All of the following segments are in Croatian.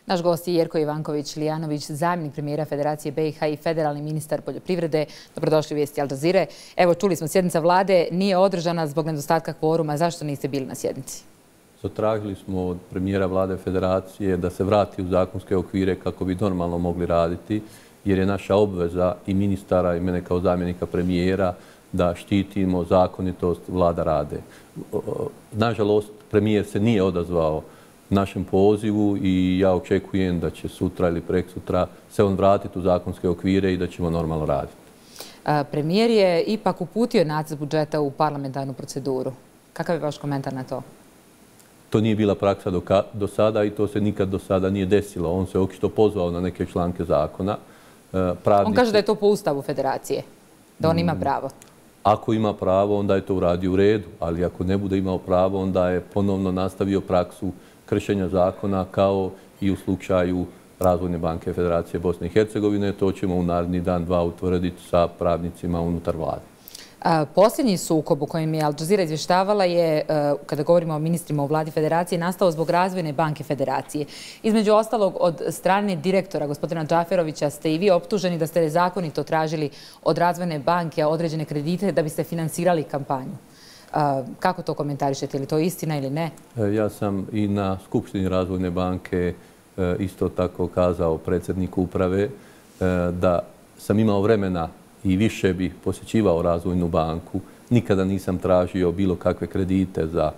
Naš gost je Jerko Ivanković-Lijanović, zamjenik premijera Federacije BiH i federalni ministar poljoprivrede. Dobrodošli u Vijesti Al Jazeere. Evo, čuli smo, sjednica vlade nije održana zbog nedostatka kvoruma. Zašto niste bili na sjednici? Zatražili smo od premijera vlade Federacije da se vrati u zakonske okvire kako bi normalno mogli raditi, jer je naša obveza i ministara i mene kao zamjenika premijera da štitimo zakonitost vlada rade. Nažalost, premijer se nije odazvao našem pozivu i ja očekujem da će sutra ili preksutra se on vratiti u zakonske okvire i da ćemo normalno raditi. Premijer je ipak uputio nacrt budžeta u parlamentarnu proceduru. Kakav je vaš komentar na to? To nije bila praksa do sada i to se nikad do sada nije desilo. On se očito pozvao na neke članke zakona. On kaže da je to po Ustavu Federacije, da on ima pravo. Ako ima pravo, onda je to uradio u redu, ali ako ne bude imao pravo, onda je ponovno nastavio praksu kršenja zakona kao i u slučaju Razvojne banke Federacije Bosne i Hercegovine. To ćemo u naredni dan, dva utvrditi sa pravnicima unutar vlade. Posljednji sukob u kojem je Al Jazeera izvještavala je, kada govorimo o ministrima u vladi Federacije, nastao zbog Razvojne banke Federacije. Između ostalog, od strane direktora gospodina Džaferovića ste i vi optuženi da ste nezakonito tražili od Razvojne banke određene kredite da biste finansirali kampanju. Kako to komentarišete? Je li to istina ili ne? Ja sam i na Skupštini Razvojne banke isto tako kazao predsjedniku uprave da sam imao vremena i više bih posjećivao Razvojnu banku. Nikada nisam tražio bilo kakve kredite za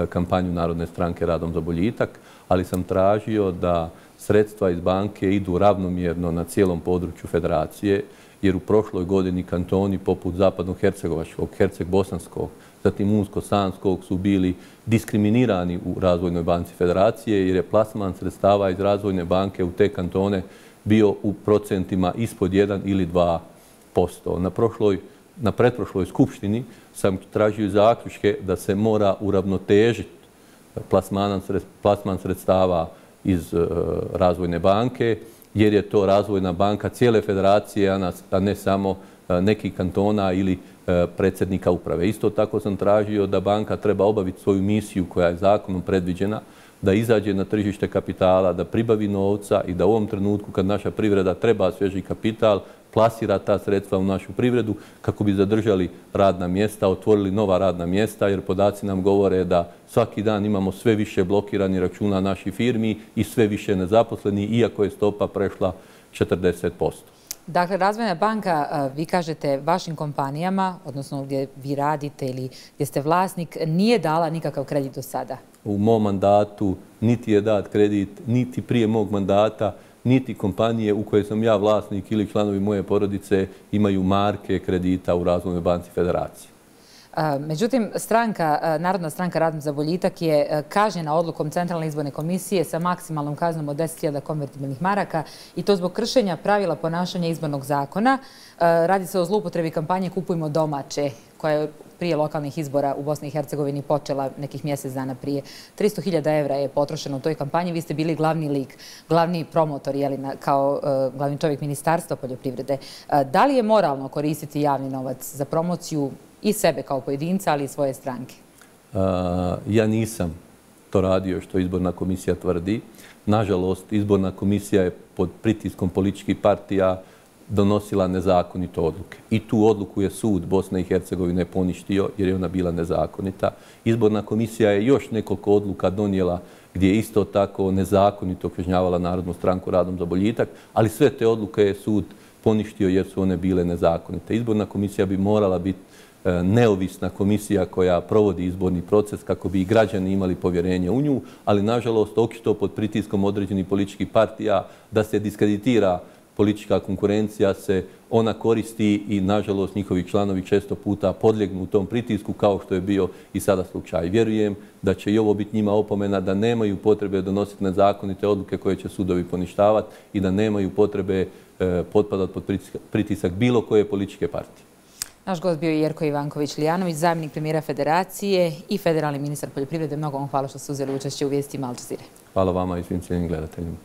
kampanju Narodne stranke Radom za boljitak, ali sam tražio da sredstva iz banke idu ravnomjerno na cijelom području Federacije, jer u prošloj godini kantoni poput Zapadno-Hercegovačkog, Herceg-Bosanskog, zatim Unsko-Sanskog su bili diskriminirani u Razvojnoj banci Federacije, jer je plasman sredstava iz Razvojne banke u te kantone bio u procentima ispod 1 ili 2%. Na pretprošloj skupštini sam tražio zaključke da se mora uravnotežiti plasman sredstava iz Razvojne banke, jer je to Razvojna banka cijele Federacije, a ne samo nekih kantona ili predsjednika uprave. Isto tako sam tražio da banka treba obaviti svoju misiju koja je zakonom predviđena, da izađe na tržište kapitala, da pribavi novca i da u ovom trenutku kad naša privreda treba svježi kapital, plasira ta sredstva u našu privredu kako bi zadržali radna mjesta, otvorili nova radna mjesta, jer podaci nam govore da svaki dan imamo sve više blokiranih računa naših firmi i sve više nezaposlenih, iako je stopa prešla 40%. Dakle, Razvojna banka, vi kažete, vašim kompanijama, odnosno gdje vi radite ili gdje ste vlasnik, nije dala nikakav kredit do sada? U mom mandatu niti je dat kredit, niti prije mog mandata, niti kompanije u koje sam ja vlasnik ili članovi moje porodice imaju marke kredita u Razvojnoj banci Federacije. Međutim, Narodna stranka Radom za boljitak je kažnjena odlukom Centralne izborne komisije sa maksimalnom kaznom od 10.000 konvertibilnih maraka i to zbog kršenja pravila ponašanja izbornog zakona. Radi se o zloupotrebi kampanje Kupujmo domaće, koja je prije lokalnih izbora u Bosni i Hercegovini počela nekih mjesec dana prije. 300.000 evra je potrošeno u toj kampanji. Vi ste bili glavni lik, glavni promotor, kao glavni čovjek Ministarstva poljoprivrede. Da li je moralno koristiti javni novac za promociju i sebe kao pojedinca, ali i svoje stranke? Ja nisam to radio što izborna komisija tvrdi. Nažalost, izborna komisija je pod pritiskom političkih partija donosila nezakonite odluke. I tu odluku je sud Bosne i Hercegovine poništio jer je ona bila nezakonita. Izborna komisija je još nekoliko odluka donijela gdje je isto tako nezakonito kažnjavala Narodnu stranku Radom za boljitak, ali sve te odluke je sud poništio jer su one bile nezakonite. Izborna komisija bi morala biti neovisna komisija koja provodi izborni proces kako bi i građani imali povjerenje u nju, ali nažalost očito pod pritiskom određenih političkih partija da se diskreditira politička konkurencija se ona koristi i nažalost njihovi članovi često puta podlijegnu u tom pritisku kao što je bio i sada slučaj. Vjerujem da će i ovo biti njima opomena da nemaju potrebe donositi nezakonite odluke koje će sudovi poništavati i da nemaju potrebe potpadati pod pritisak bilo koje političke partije. Naš gost bio je Jerko Ivanković-Lijanović, zamjenik premijera Federacije i federalni ministar poljoprivrede. Mnogo vam hvala što ste uzeli učešće u Vijestima Al Jazeere. Hvala vama i svim cijenim gledateljima.